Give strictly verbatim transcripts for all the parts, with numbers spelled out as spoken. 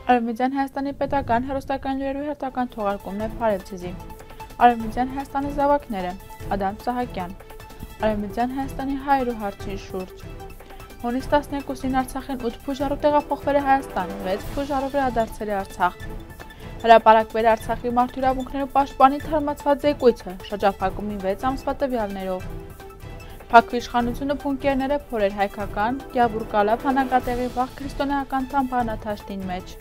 Արևմտյան Հայաստանի պետական հեռուստական լուրերու հերթական թողարկումն է Փարեվցիզի։ Արևմտյան Հայաստանի զավակները Ադամ Սահակյան։ Արևմտյան Հայաստանի հայերու հարցի շուրջ։ Հունիս տասներկուսին Արցախին ութ փուժարու տեղափոխվել է Հայաստան, վեց փուժարու վերադարձել է Արցախ։ Հրապարակվել է Արցախի մարդու իրավունքներու պաշտպանի թարմացված զեկույցը շրջափակումի վեց ամսվա տվյալներով։ Փակվի իշխանությունը փունկերները փորեր հայկական, Գյաբուրկալավ հանրակատեղի վաղ քրիստոնեական թամբանաթաշտին մեջ։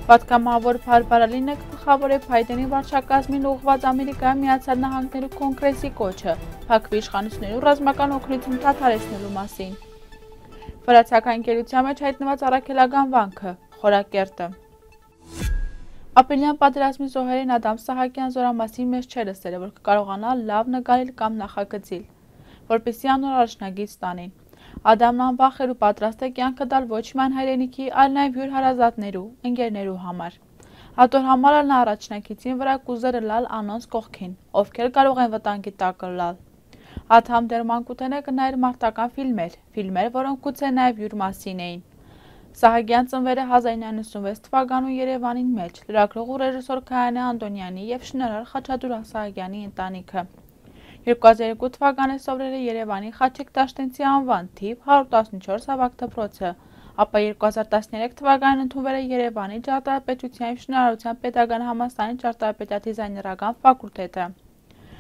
Պատգամավոր Փարփարալինը գլխավոր է Փայդենի վարչակազմին ուղղված Ամերիկայի Միացյալ Նահանգներու կոնգրեսի կոչը, փակվի իշխանություններու ռազմական օգնություն դադարեցնելու մասին։ Վրացական ընկերության մեջ հայտնված առաքելական վանքը, Խորակերտը։ Ապրիլյան պատերազմի զոհերին Ադամ Սահակյան զորամասի մեջ չէ լսել, որ կկարողանա լավ նկարել կամ նախագծել, որպեսզի անոր առաջնագիծ ստանին։ Ադամն անվախ էր ու պատրաստ է կյանքը տալ ոչ միայն հայրենիքի, այլ նաև հյուր հարազատներու, ընկերներու համար։ Հատոր համար էլ նա առաջնակիցին վրա կուզերը լալ անոնց կողքին, ովքեր կարող են վտանգի տակը լալ։ Ադամ դեռ մանկութենե կնայր մարտական ֆիլմեր, ֆիլմեր, որոնք գուցե նաև հյուր մասին էին։ Սահակյան ծնվել է հազար իննսուն ութանասուն թվականու Երևանին մեջ, լրագրող ու ռեժիսոր Քայանե Անդոնյանի եւ շինարար Խաչատուր Սահակյանի ընտանիքը։ երկու հազար երկու թվական에 սովորել է Երևանի Խաչիկ Տաշտենցի անվան թիվ հարյուր տասնչորս ավագ դպրոցը, ապա երկու հազար տասներեք թվականին ընդունվել է Երևանի ճարտարապետության եւ շինարարության պետական համալսարանի ճարտարապետադիզայներական ֆակուլտետը։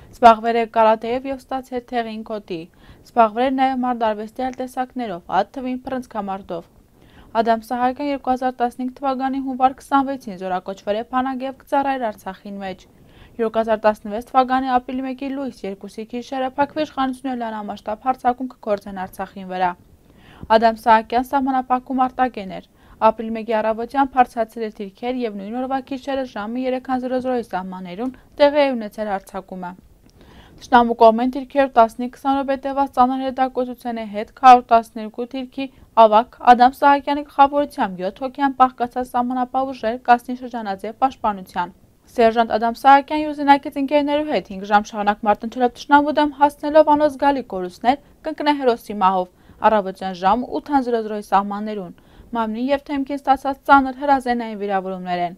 Զբաղվել է կարատեով եւ ստացել թեղին կոդի։ Զբաղվել է նաեւ մարդարվեստի այլ տեսակներով, այդ թվին փռնցքամարտով։ Ադամ Սահակյան երկու հազար տասնհինգ թվականի հունվար քսանվեցին զորակոչվել է Փանագեև կծառայել Արցախին մեջ։ երկու հազար տասնվեց թվականի ապրիլի մեկի լույս երկուսի գիշերը փակվի իշխանությունները լայնամասշտաբ հարձակում կգործեն Արցախին վրա։ Ադամ Սահակյան սահմանափակում արտակեն էր։ Ապրիլի մեկի առավոտյան բարձրացել էր դիրքեր եւ նույն օրվա գիշերը ժամը երեք հազար սահմաններուն տեղի է ունեցել հարձակումը։ Թշնամու կողմեն դիրքերով տասնհինգ քսանորդ հետևած ծանր հետակոծության հետ քառ տասներկու դիրքի ավագ Ադամ Սահակյանի գլխավորությամբ յոթ հոգեան պահկացած սահմանապահ ուժեր կազմի շրջանաձև պաշտպանության։ Սերժանտ Ադամ Սահակյանի ուզենակից ընկերներու հետ հինգ ժամ շարունակ մարտնչելով թշնամու դեմ հասնելով անոնց զգալի կորուստներ կընկնե հերոսի մահով առավոտյան ժամը ութ հազար սահմաններուն։ Մամնի եւ թեմքին ստացած ծանր հրազենային վիրավորումներ են։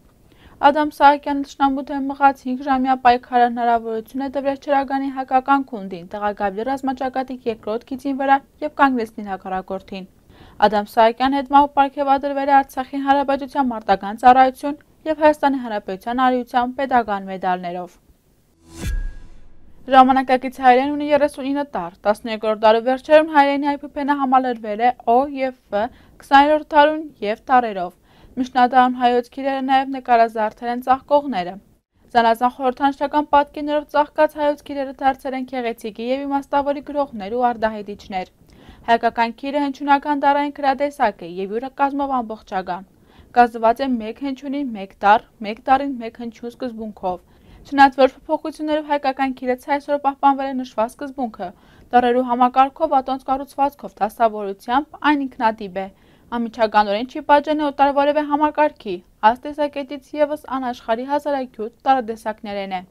Ադամ Սահակյանը թշնամու դեմ մղած հինգ ժամյա պայքարը հնարավորություն է տվել Չրագանի հայկական քունդին տեղակայվել ռազմաճակատի երկրորդ գիծին վրա եւ կանգնեցնել հակառակորդին։ Ադամ Սահակյանի հետ մահու պարգևատրվել է Արցախի հանրապետության մարտական ծառայություն եւ Հայաստանի հանրապետության արիության պետական մեդալներով։ Ժամանակակից հայերեն ունի երեսունինը տառ, տասներկրորդ դարու վերջերում հայերենի այբուբենը համալրվել է Օ եւ Ֆ, քսաներորդ դարուն եւ տառերով։ Միջնադարում հայոց քիրերը նաև նկարազարդել են ծաղկողները։ Զանազան խորհրդանշական պատկերներով ծաղկած հայոց քիրերը դարձել են գեղեցիկի եւ իմաստավորի գրողներ ու արդահայտիչներ։ Հայկական քիրը հնչյունական դարային գրատեսակ է եւ յուրը կազմով ամբողջական։ Կազմված է մեկ հնչյունի, մեկ տառ, մեկ տառին մեկ հնչյուն սկզբունքով։ Չնայած որ փոփոխություններով հայկական քիրը այսօր պահպանվել է նշված սկզբունքը, տառերու համակարգով, ատոնց կառուցվածքով, դասավորությամբ այն ինքնատիպ է։ Անմիջականորեն չի պատժեն օտար որևէ համակարգի, այս տեսակետից եւս անաշխարհի հազարագյուտ տարատեսակներեն է։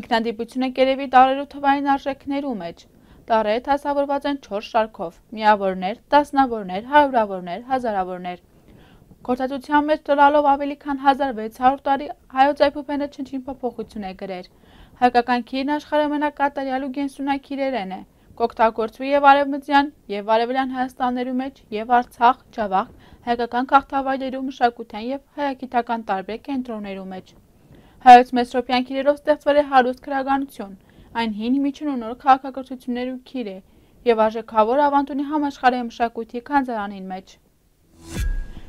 Ինքնատիպությունը կերևի տառերու թվային արժեքներու մեջ։ Տառերը դասավորված են չորս շարքով՝ միավորներ, տասնավորներ, հարյուրավորներ, հազարավորներ։ Գործածության մեջ տալով ավելի քան հազար վեց հարյուր տարի հայոց այբուբենը չնչին փոփոխություն է գրել։ Հայկական քիրն աշխարհի ամենակատարյալ ու գենսունակ քիրերեն է։ Կօգտագործվի եւ արևմտյան եւ արևելյան Հայաստաններու մեջ եւ Արցախ, Ջավախ, հայկական քաղաքավայրերու մշակութային եւ հայագիտական տարբեր կենտրոններու մեջ։ Հայոց մեսրոպյան քիրերով ստեղծվել է հարուստ քրագանություն, այն հին միջին ու նոր քաղաքակրթություններու քիր է եւ արժեքավոր ավանդունի համաշխարհային մշակույթի քանզարանին մեջ։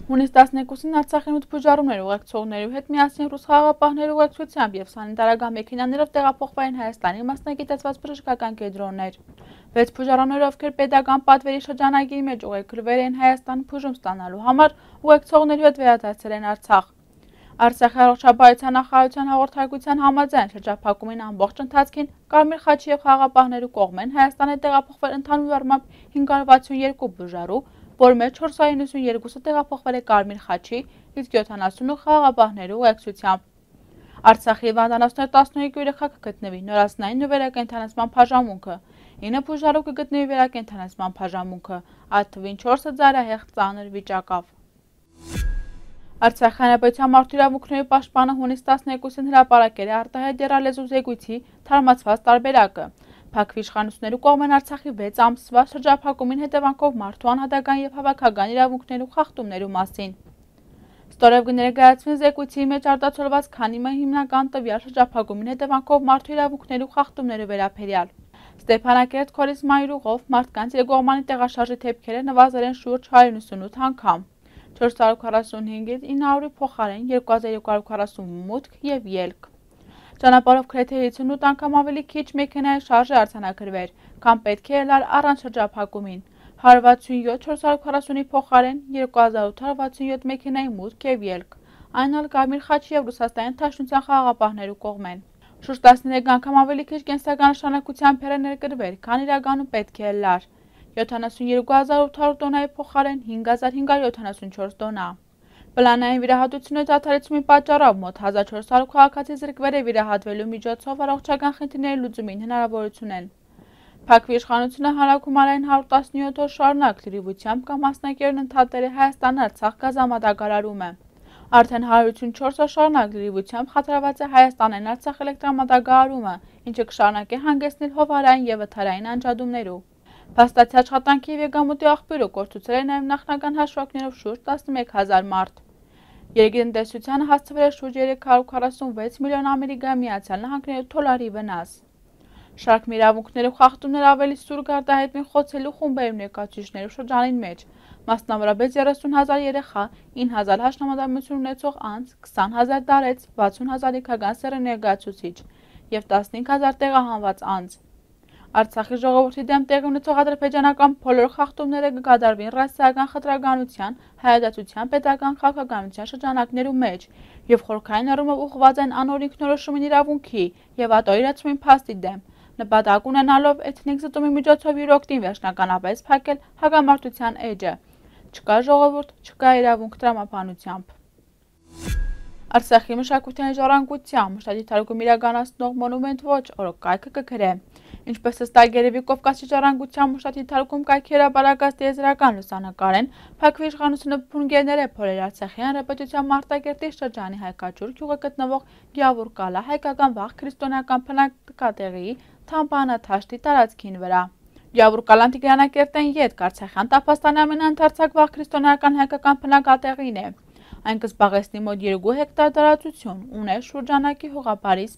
Հունիս տասներկուսին Արցախին ութ փուժարումներ ուղեկցողներու հետ միասին ռուս խաղաղապահներու ուղեկցությամբ եւ սանիտարական մեքենաներով տեղափոխվել են Հայաստանի մասնագիտացված բժշկական կենտրոններ։ Վեց փուժարումները, ովքեր պետական պատվերի շրջանագիրի մեջ ուղեկրվել են Հայաստան փուժում ստանալու համար, ուղեկցողներու հետ վերադարձել են Արցախ։ Արցախի առողջապահության նախարարության հաղորդակցության համաձայն շրջափակումին ամբողջ ընթացքին Կարմիր խաչի եւ խաղաղապահներու կողմեն Հայաստան է տեղափոխվել ընդհանուր առմամբ հինգ հարյուր վաթսունյերկու բուժարու, որ մեջ չորս հարյուր նվսունյերկուսը տեղափոխվել է Կարմիր խաչի, իսկ յոթանասունը խաղաղապահներու ուղեկցությամբ։ Արցախի հիվանդանոցներ տասնհինգ երեխա կգտնվի նորածնային ու վերակենդանացման բաժանմունքը, ինը բուժարու կգտնվի վերակենդանացման բաժանմունքը, այդ թվին չորսը ծայրահեղ ծանր վիճակով։ Արցախի հանրապետության մարդու իրավունքների պաշտպանը հունիս տասներկուսին հրապարակել է արտահայտ եռալեզու զեկույցի թարմացված տարբերակը։ Փակ իշխանությունների կողմեն Արցախի վեց ամսվա շրջափակումին հետևանքով մարդու անհատական եւ հավաքական իրավունքների խախտումների մասին։ Ստորև կներկայացվի զեկույցի մեջ արտացոլված քանի մի հիմնական տվյալ շրջափակումին հետևանքով մարդու իրավունքների խախտումների վերաբերյալ։ Ստեփանակերտ Քորիսմայի ուղով մարդկանց իրգողմանի տեղաշարժի դեպքերը նվազել են շուրջ հարյուր ութսունութ անգամ։ չորս հարյուր քառասունհինգից ինը հարյուրի փոխարեն երկու հազար երկու հարյուր քառասուն մուտք եւ ելք։ Ճանապարհով գրեթե յոթսունութ անգամ ավելի քիչ մեքենայի շարժ է արձանագրվել, քան պետք է ելար առանց շրջափակումին։ հարյուր վաթսունյոթ չորս հարյուր քառասունի փոխարեն երկու հազար ութ հարյուր վաթսունյոթ մեքենայի մուտք եւ ելք։ Այն ալ Կարմիր խաչի եւ Ռուսաստանի Դաշնության խաղաղապահներու կողմեն։ Շուրջ տասներեք անգամ ավելի քիչ կենսական նշանակությամբ է ներկրվել, քան իրականում պետք է ելար։ յոթանասունյերկու հազար ութ հարյուր տոննայի փոխարեն հինգ հազար հինգ հարյուր յոթանասունչորս տոննա։ Պլանային վիրահատությունների դադարեցումի պատճառով մոտ հազար չորս հարյուր քաղաքացի զրկվել է վիրահատվելու միջոցով առողջական խնդիրների լուծումին հնարավորություն են։ Փակ իշխանությունը հանրագումարային հարյուր տասնյոթ օր շարունակ լրիվությամբ կամ մասնակերն ընդհատել է Հայաստան-Արցախ գազամատակարարումը։ Արդեն հարյուր ութսունչորս օր շարունակ լրիվությամբ խաթարված է Հայաստանային Արցախ էլեկտրամատակարարումը, ինչը կշարունակի հանգեցնել հովհարային եւ վթարային անջատումներու։ Փաստացի աշխատանքի եւ եկամուտի աղբյուրը կորցուցել է նաեւ նախնական հաշվարկներով շուրջ տասնմեկ հազար մարդ։ Երկրի տնտեսությանը հասցվել է շուրջ երեք հարյուր քառասունվեց միլիոն Ամերիկայի Միացյալ Նահանգների դոլարի վնաս։ Շարք իրավունքներով խախտումներ ավելի սուր արտահայտվին խոցելու խումբերի ներկայացուցիչներու շրջանին մեջ, մասնավորապես երեսուն հազար երեխա, ինը հազար հաշնամատամություն ունեցող անձ, քսան հազար տարեց, վաթսուն հազար լիքական սեռի ներկայացուցիչ եւ տասնհինգ հազար տեղահանված անձ։ Արցախի ժողովրդի դեմ տեղի ունեցող ադրբեջանական բոլոր խախտումները կկատարվին ռասայական խտրականության, հայադատության, պետական քաղաքականության շրջանակներու մեջ եւ խորքային առումով ուղղված են անօր ինքնորոշումին իրավունքի եւ ատոյրացումին փաստի դեմ, նպատակ ունենալով էթնիկ զտումի միջոցով իր օգտին վերջնականապես փակել հակամարտության էջը։ Չկա ժողովուրդ, չկա իրավունք տրամաբանությամբ։ Արցախի մշակութային ժառանգության մշտադիր թարգում իրականացնող Մոնումենտ ոչ օրոքայքը կգրե։ Ինչպես հստակ երևի Կովկասի ժառանգության մշտադիր թարգում կայքի հրապարակած տիեզերական լուսանկարեն, Փակ իշխանությունը փունգերներ է փորել Արցախի հանրապետության Մարտակերտի շրջանի Հայկաճուր գյուղը գտնվող Գյավուր Կալա հայկական վաղ քրիստոնեական բնակատեղիի Թամբանաթաշտի տարածքին վրա։ Գյավուր Կալան Տիգրանակերտեն ետք Արցախյան տափաստանի ամենաընդարձակ վաղ քրիստոնեական հայկական բնակատեղին է։ Այն կզբաղեցնի մոտ երկու հեկտար տարածություն, ուներ շուրջանակի հողապարիս,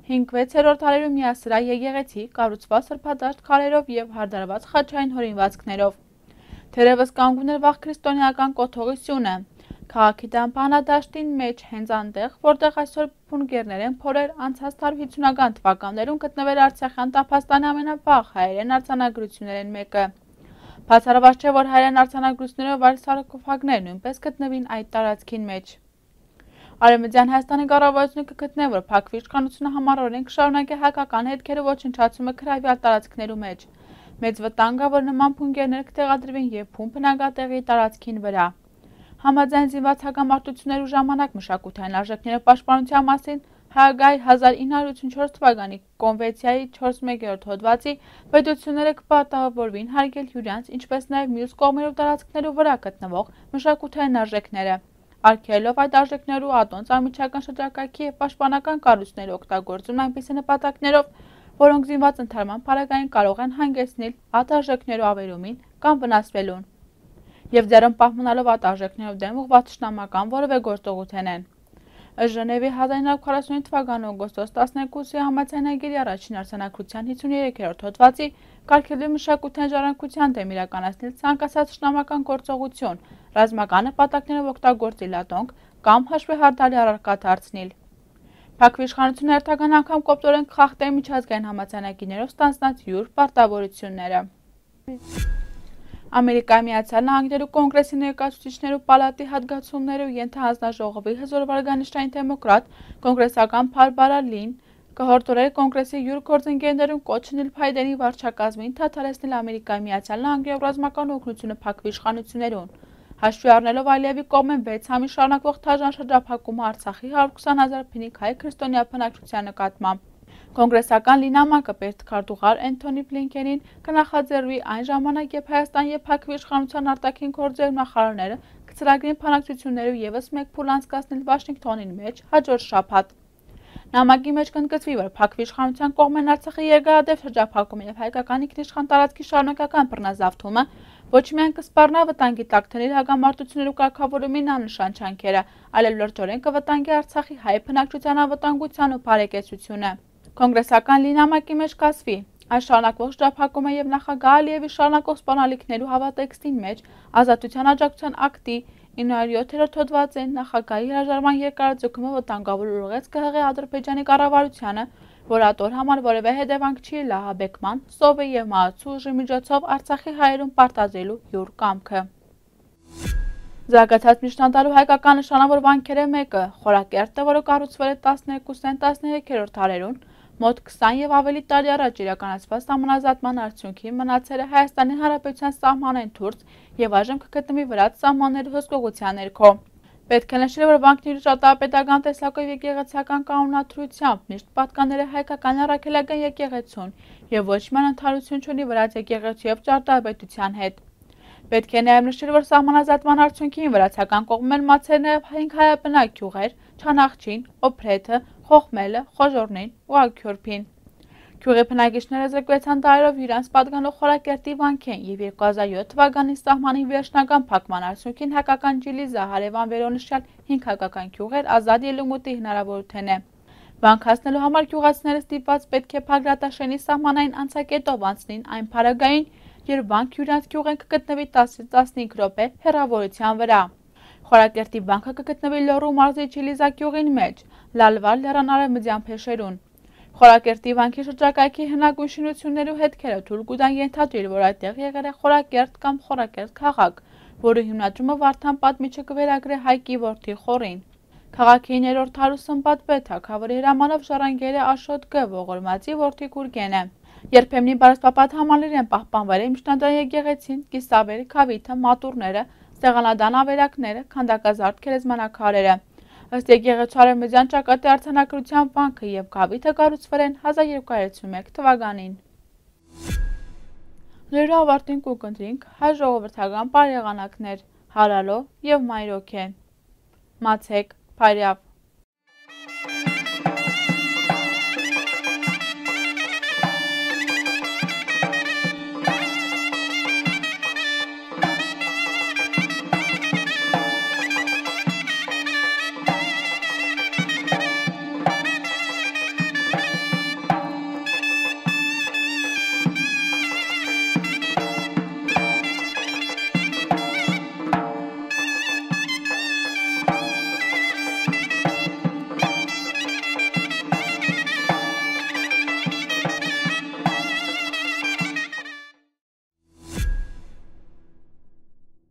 հինգ-վեցերորդ դարերու միասրահ եկեղեցի, կառուցված սրբադաշտ քարերով եւ հարդարված խաչային հորինվածքներով։ Թերևս կանգուն էր վաղ քրիստոնեական կոթողի սյունը։ Քաղաքի Թամբանադաշտին մեջ հենց այնտեղ, որտեղ այսօր փունգերներ են փորել, անցած տարի հիսունական թվականներում գտնվել Արցախյան տափաստանի ամենավաղ հայերեն արձանագրություններն մեկը։ Բացառված չէ, որ հայերեն արձանագրությունները վայր սարքոֆագներ նույնպես գտնվին այդ տարածքին մեջ։ Արևմտյան Հայաստանի կառավարությունը կգտնե, որ Փակ իշխանությունը համառորեն կշարունակի հայկական հետքերը ոչնչացումը գրավյալ տարածքներու մեջ։ Մեծ վտանգ կա, որ նման փունգերներ կտեղադրվին եւ փուն բնակատեղիի տարածքին վրա։ Համաձայն զինված հակամարտություններու ժամանակ մշակութային արժեքների պաշտպանության մասին Հագայ հազար ինը հարյուր ութսունչորս թվականի կոնվենցիայի չորսմեկերորդ հոդվածի պետությունները կպարտավորվին հարգել հյուրանց, ինչպես նաև մյուս կողմերով տարածքներու վրա գտնվող մշակութային արժեքները, արգելելով այդ արժեքներու ատոնց անմիջական շրջակայքի եւ պաշտպանական կառույցների օգտագործումն այնպիսի նպատակներով, որոնք զինված ընդհանրման փառագային կարող են հանգեցնել այդ արժեքներու ավերումին կամ վնասվելուն, եւ դեռ պահպանելով այդ արժեքներով դեմ ուղղված շնամական որևէ գործողություն են։ Ժնևի հազար ինը հարյուր քառասունհինգ թվականի օգոստոս տասներկուսի համաձայնագիրի առաջին արձանագրության հիսուներեքերորդ հոդվածի կարգելվի մշակութային ժառանգության դեմ իրականացնել ցանկացած շնամական գործողություն, ռազմական նպատակներով օգտագործել ատոնք կամ հաշվի հարդարի առարկա դարձնել։ Փակ իշխանությունը հերթական անգամ կոպտորեն կխախտել միջազգային համաձայնագիրներով ստանձնած յուր պարտավորությունները։ Ամերիկայի Միացյալ Նահանգներու կոնգրեսի ներկայացուցիչներու պալատի հատկացումներու ենթահանձնաժողովի հզոր վարկանիշային դեմոկրատ կոնգրեսական Բարբարա Լին կհորդորել կոնգրեսի յուր գործընկերներուն կոչ անել Փայդենի վարչակազմին դադարեցնել Ամերիկայի Միացյալ Նահանգներու ռազմական օգնությունը Փակ իշխանություններուն, հաշվի առնելով Ալիևի կողմեն վեց ամիս շարունակվող դաժան շրջափակումը Արցախի հարյուր քսան հազար փնիկ հայ քրիստոնյա բնակչության նկատմամբ։ Կոնգրեսական Լինամակը պետքարտուղար Էնթոնի Բլինքենին կնախաձեռնվի այն ժամանակ, երբ Հայաստան եւ Փակ իշխանության արտաքին գործերի նախարարները մեկ ծրագրին բանակցություններով ևս մեկ փուլ անցկացնել Վաշինգտոնին մեջ հաջորդ շաբաթ։ Նամակի մեջ կընդգծվի, որ փակվի իշխանության կողմեն Արցախի երկարատև շրջափակումը եւ հայկական ինքնիշխան տարածքի շարունակական բռնազավթումը ոչ միայն կսպառնա վտանգի տակ դնել հակամարտություններու կարգավորումին աննշան ջանքերը, այլև լրջորեն կվտանգի Արցախի հայ բնակչության անվտանգության ու բարեկեցությունը։ Կոնգրեսական լի նամակի մեջ կասվի. այս շարունակվող շրջափակումը եւ նախագահ Ալիևի շարունակող սպանալիքներու հավատեքստին մեջ ազատության աջակցության ակտի իննոյոթերորդ հոդվածին նախագահի հրաժարման երկարաձգումը վտանգավոր ուղղեց ԿՀՂ Ադրբեջանի կառավարությանը, որ ատոր համար որևէ հետևանք չի լահաբեկման, սովի եւ մահացու ուժի միջոցով Արցախի հայերուն պարտադրելու յուր կամքը։ Զարգացած միջնադարու հայկական նշանավոր վանքերը մեկը Խորակերտը, որը կառուցվել է տասներկուսերորդ տասներեքերորդ դարերուն, մոտ քսան եւ ավելի տարի առաջ իրականացված սահմանազատման արդյունքին մնացել է Հայաստանի Հանրապետության սահմանային թուրց եւ այժմ կգտնվի վրաց սահմանների հսկողության ներքո։ Պետք է նշել, որ վանքների ճարտարապետական տեսակով եկեղեցական կանոնադրությամբ միշտ պատկանել է հայկական առաքելական եկեղեցուն եւ ոչ միայն ընդհանրություն չունի վրաց եկեղեցու եւ ճարտարապետության հետ։ Պետք է նաեւ նշել, որ սահմանազատման արդյունքին վրացական կողմն մացել նաեւ հինգ հայաբնակ գյուղեր՝ Չանախչին, Օփրեթը, Խոխմելը, Խոժորնին ու Աքյուրփին։ Գյուղի բնակիչները զրկվեցան դարերով իրանց պատկանող Խորակերտի վանքեն եւ երկու հազար յոթ թվականի սահմանի վերջնական փակման արդյունքին հայկական Ջիլիզա, Հարևան վերոնշյալ հինգ հայկական գյուղեր ազատ ելումուտի հնարավորություն է։ Վանք հասնելու համար գյուղացիները ստիպված պետք է Փագրատաշենի սահմանային անցակետով անցնին այն փարագային, երբ վանք յուրանց գյուղեն կգտնվի տասից տասնհինգ րոպե հեռավորության վրա։ Խորակերտի վանքը կգտնվի Լոռու մարզի Ջիլիզա գյուղին մեջ, Լալվար լեռան արևմտյան փեշերուն։ Խորակերտի վանքի շրջակայքի հնագույն շինություններու հետքերը թույլ կտան ենթադրել, որ այդտեղ եղել է Խորակերտ կամ Խորակերտ քաղաք, որը հիմնադրումը Վարդան պատմիչը կվերագրե Հայկի որդի Խորին։ Քաղաքի ներորդ հարուստ Սմբատպետ թագավորի հրամանով ժառանգել է Աշոտ Գ. Ողորմածի որդի Գուրգենը։ Երբեմնի բարսպապատ համալիր են պահպանվել է միջնադարյան եկեղեցին, կիսավերը, քավիթը, մատուրները, սեղանադան ավերակները, քանդակազարդ գերեզմանակարերը։ Ըստ եկեղեցու արևմտյան ճակատի արձանագրության վանքը եւ քավիթը կառուցվել են հազար երկու հարյուր ութսունմեկ թվականին։ Լուրը ավարտին կուկընտրինք հայ ժողովրդական բարեղանակներ Հարալո եւ Մայրոքե։ Մացեք, Փարյավ։